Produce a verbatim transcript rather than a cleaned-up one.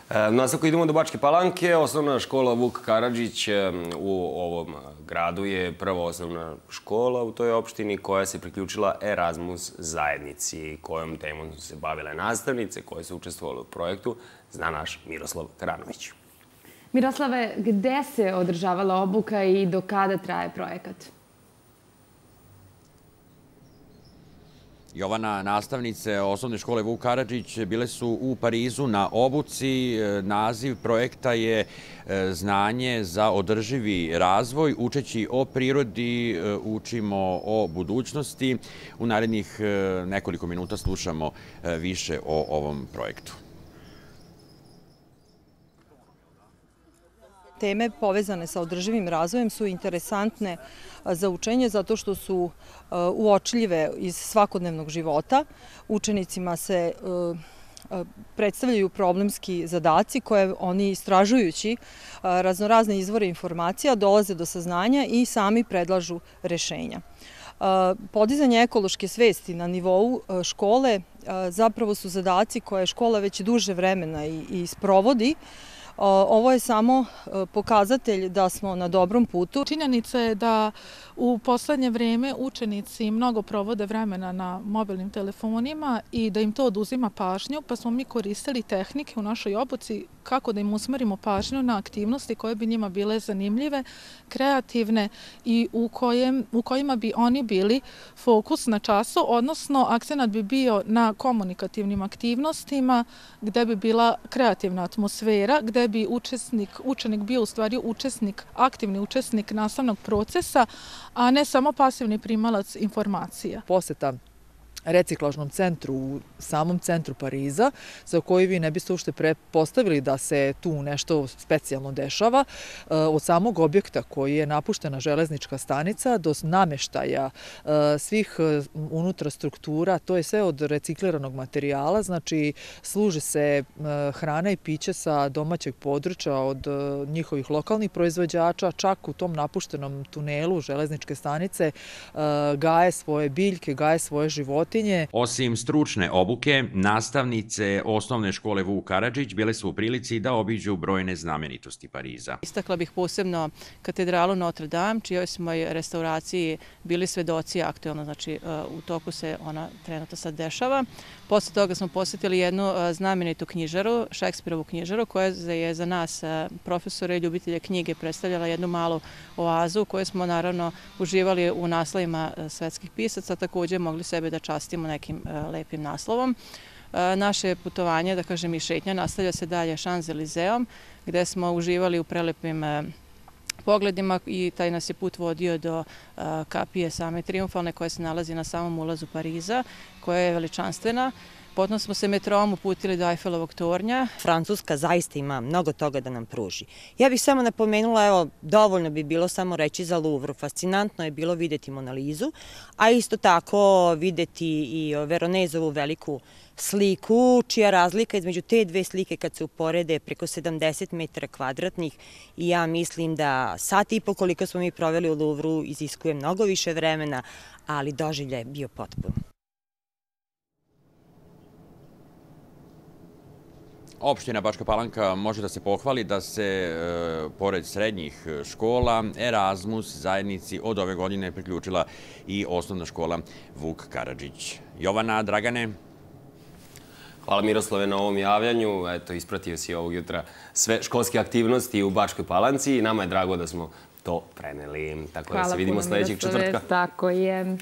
Nastavku idemo do Bačke Palanke. Osnovna škola Vuk Karadžić u ovom gradu je prva osnovna škola u toj opštini koja se priključila Erasmus zajednici, kojom temom su se bavile nastavnice koje su učestvovale u projektu, zna naš Miroslav Karanović. Miroslave, gde se održavala obuka i do kada traje projekat? Jovana, nastavnice osnovne škole Vuk Karadžić bile su u Parizu na obuci. Naziv projekta je Znanje za održivi razvoj. Učeći o prirodi, učimo o budućnosti. U narednih nekoliko minuta slušamo više o ovom projektu. Teme povezane sa održivim razvojem su interesantne za učenje zato što su uočljive iz svakodnevnog života. Učenicima se predstavljaju problemski zadaci koje oni, istražujući raznorazne izvore informacija, dolaze do saznanja i sami predlažu rešenja. Podizanje ekološke svesti na nivou škole zapravo su zadaci koje škola već duže vremena i sprovodi. Ovo je samo pokazatelj da smo na dobrom putu. Činjenica je da u poslednje vreme učenici mnogo provode vremena na mobilnim telefonima i da im to oduzima pažnju, pa smo mi koristili tehnike u našoj obuci kako da im usmerimo pažnju na aktivnosti koje bi njima bile zanimljive, kreativne i u, kojem, u kojima bi oni bili fokus na času, odnosno akcenat bi bio na komunikativnim aktivnostima gde bi bila kreativna atmosfera, gde bi učesnik, učenik bio u stvari učesnik, aktivni učesnik nastavnog procesa, a ne samo pasivni primalac informacija. Poseta reciklažnom centru u samom centru Pariza, za koji vi ne biste uopšte pretpostavili da se tu nešto specijalno dešava, od samog objekta koji je napuštena železnička stanica do nameštaja svih unutra struktura, to je sve od recikliranog materijala, znači služi se hrana i piće sa domaćeg područja od njihovih lokalnih proizvođača, čak u tom napuštenom tunelu železničke stanice gaje svoje biljke, gaje svoje životinje. Osim stručne obuke, nastavnice osnovne škole Vuk Karadžić bile su u prilici da obiđu brojne znamenitosti Pariza. Istakla bih posebno katedralu Notre Dame, čijoj smo restauraciji bili svedoci aktualno, znači u toku se ona trenutno sad dešava. Posle toga smo posjetili jednu znamenitu knjižaru, Šekspirovu knjižaru, koja je za nas profesore i ljubitelje knjige predstavljala jednu malu oazu u kojoj smo naravno uživali u naslovima svetskih pisaca, također mogli sebe da častimo nekim lepim naslovom. Naše putovanje, da kažem i šetnja, nastavlja se dalje Šanzelizeom, gde smo uživali u prelepim pogledima i taj nas je put vodio do kapije same Trijumfalne koja se nalazi na samom ulazu Pariza, koja je veličanstvena. Potom smo se metrom uputili do Ajfelovog tornja. Francuska zaista ima mnogo toga da nam pruži. Ja bih samo napomenula, evo, dovoljno bi bilo samo reći za Louvre. Fascinantno je bilo videti Mona Lizu, a isto tako videti i Veronezovu veliku sliku, čija razlika između te dve slike kad se uporede preko sedamdeset metara kvadratnih i ja mislim da sat i po koliko smo mi proveli u Louvru iziskuje mnogo više vremena, ali doživljaj je bio potpun. Opština Bačka Palanka može da se pohvali da se, pored srednjih škola, Erasmus zajednici od ove godine priključila i osnovna škola Vuk Karadžić. Jovana, Dragane. Hvala Miroslave na ovom javljanju. Eto, ispratio si ovog jutra sve školske aktivnosti u Bačkoj Palanci i nama je drago da smo to preneli. Tako da se vidimo sljedećeg četvrtka. Tako je.